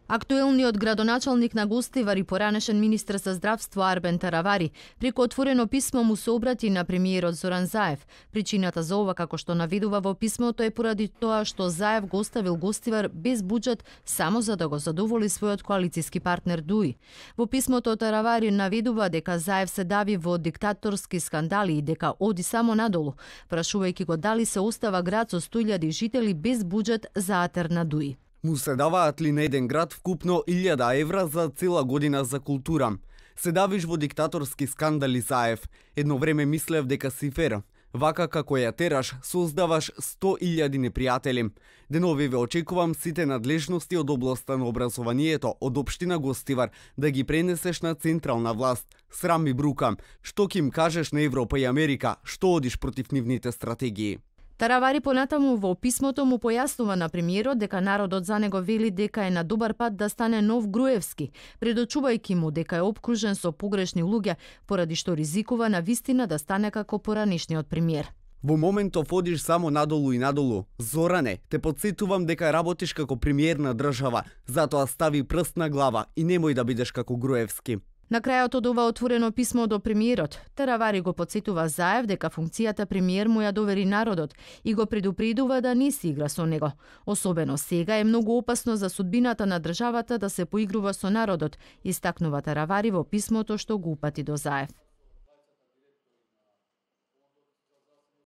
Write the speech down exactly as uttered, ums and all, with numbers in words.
Актуелниот градоначалник на Гостивар и поранешен министер за здравство Арбен Таравари преку отворено писмо му се обрати на премиерот Зоран Заев. Причината за ова, како што наведува во писмото, е поради тоа што Заев го оставил Гостивар без буџет само за да го задоволи својот коалициски партнер Дуи. Во писмото Таравари наведува дека Заев се дави во диктаторски скандали и дека оди само надолу, прашувајќи го дали се остава град со сто илјади жители без буџет за атер на Дуи. Му се даваат ли на еден град вкупно илјада евра за цела година за култура? Се давиш во диктаторски скандали, Заев. Едно време мислев дека си фер. Вака како ја тераш, создаваш сто илјади непријатели. Денови ве очекувам сите надлежности од областа на образованието од општина Гостивар да ги пренесеш на централна власт. Срам и брука. Што ќе им кажеш на Европа и Америка? Што одиш против нивните стратегии? Таравари понатаму во писмото му појаснува на премиерот дека народот за него вели дека е на добар пат да стане нов Груевски, предочувајќи му дека е опкружен со погрешни луѓе, поради што ризикува на вистина да стане како поранешниот премиер. Во моментов одиш само надолу и надолу. Зоране, те подсетувам дека работиш како премиер на држава, затоа стави прст на глава и немој да бидеш како Груевски. На крајот од ова отворено писмо до премиерот, Таравари го подсетува Заев дека функцијата премиер му ја довери народот и го предупредува да не си игра со него. Особено сега е многу опасно за судбината на државата да се поигрува со народот, истакнува Таравари во писмото што го упати до Заев.